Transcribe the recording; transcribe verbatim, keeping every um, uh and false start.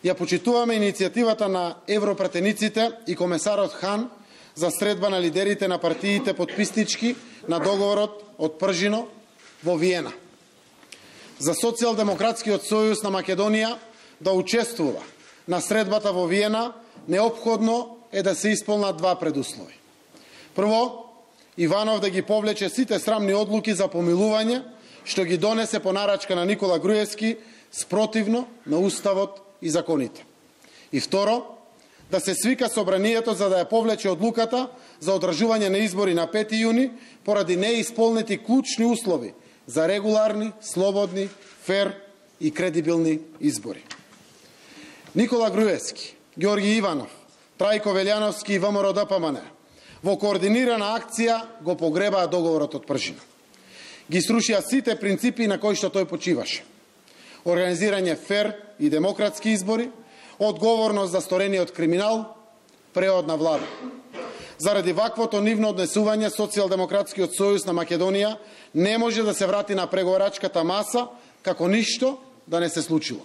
Ја почитуваме иницијативата на европратениците и комесарот Хан за средба на лидерите на партиите подписнички на договорот од Пржино во Виена. За Социјалдемократскиот сојуз на Македонија да учествува на средбата во Виена, неопходно е да се исполнат два предуслови. Прво, Иванов да ги повлече сите срамни одлуки за помилување, што ги донесе по нарачка на Никола Груевски, спротивно на Уставот и законите. И второ, да се свика собранието за да ја повлече одлуката за одржување на избори на пети јуни поради неисполнети клучни услови за регуларни, слободни, фер и кредибилни избори. Никола Груевски, Ѓорги Иванов, Трајко Велјановски и ВМРО Д П М Н во координирана акција го погребаа договорот од Пржино. Ги срушија сите принципи на кои што тој почиваше. Организирање фер и демократски избори, одговорност за сторениот криминал, преод на влада. Заради ваквото нивно однесување, Социјалдемократскиот сојуз на Македонија не може да се врати на преговарачката маса како ништо да не се случило.